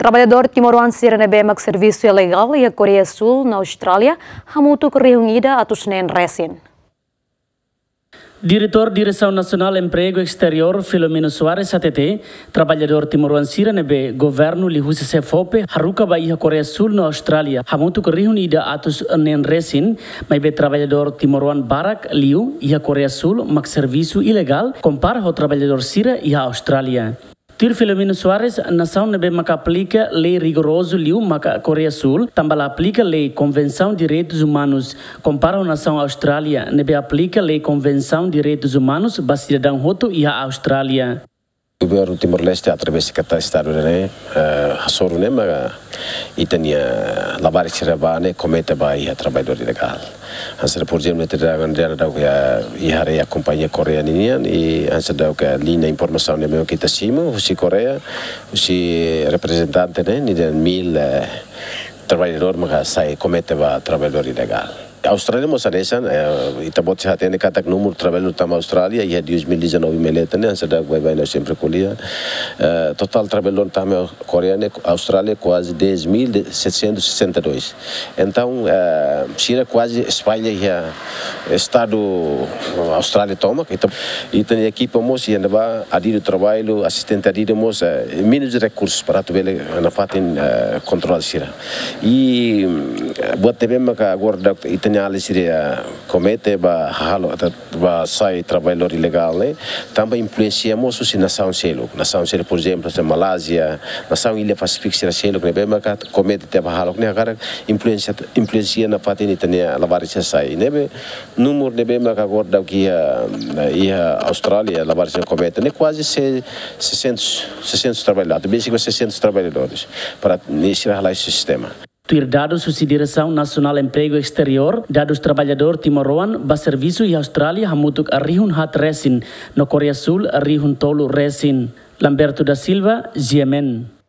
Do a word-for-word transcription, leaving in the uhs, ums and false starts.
Traballadór timoroan sira ne'ebé mak servisu ilegál iha Koreia Súl no Austrália hamutuk rihun ida atus neen resin. Diretór Diresaun Nasionál Empregu Esteriór Filomeno Soares hatete, traballadór timoroan sira ne'ebé governu liuhusi SEFOPE haruka ba iha Koreia Súl no Austrália hamutuk rihun ida atus neen resin, maibé traballadór timoroan barak liu iha Koreia Súl mak servisu ilegál kompara ho traballadór sira iha Austrália. Tuir Filomeno Soares, nasaun ne'ebé maka aplika lei rigorozu liu maka Koreia Súl, tanba la aplika lei Konvensaun Direitus Umanus, kompara ho nasaun Austrália ne'ebé aplika lei Konvensaun Direitus Umanus ba sidadaun hotu iha Austrália. Governu Timor-Leste através sekretáriu Estadu ne'e, eh, hasoru ne'e maka ita-nia labarik sira ba ne'e komete ba iha traballadór ilegál. Hanesan, por ezemplu, ita daudaun, daudaun iha, iha área kompañia Koreia ninian, i hanesan daudaun liña informasaun ne'ebé mak ita simu husi Koreia, husi reprezentante ne'e, ninian mil, eh, traballadór maka sai komete ba traballadór ilegál. Austrália mós hanesan, eh, ita-boot sei hatene katak númeru traballadór tama Austrália iha dois mil e dezanove mai leten ne'e, hanesan daudaun baibain ha'u sempre ko'alia. Eh, totál traballadór tama Koreia ne'e, Austrália kuaze dez mil setecentos e sessenta e dois. Entaun, eh, sira kuaze espalla iha estadu Austrália tomak. Ita, ita-nia ekipa mós iha ne'ebá adidu traballu, asistente adidu mós, eh, menus rekursus para atu bele nafatin, eh, kontrola sira. I, mm, buat ne'ebé maka agora daudaun ita-nia alin sira komete ba halo, ba sai traballadór ilegál ne'e, tanba influénsia mós husi nasaun seluk. Nasaun seluk, por ezemplu, hanesan Malázia, nasaun illa Pasífiku sira seluk ne'ebé maka komete tiha ba hahalok ne'e, hakarak influénsia, influénsia nafatin ita-nia labarik sira sai. Ne'ebé númeru ne'ebé maka agora daudaun iha, iha Austrália, labarik sira komete ne'e kuaze se-, seiscentos, seiscentos traballadores, atu besik ba seiscentos traballadores, para ne'e sira halai sistema. Tuir dadus husi Diresaun Nasionál Empregu Esteriór, dadus traballadór timoroan ba servisu iha Austrália hamutuk rihun haat resin, no Koreia Súl rihun tolu resin. Lamberto da Silva, G M N.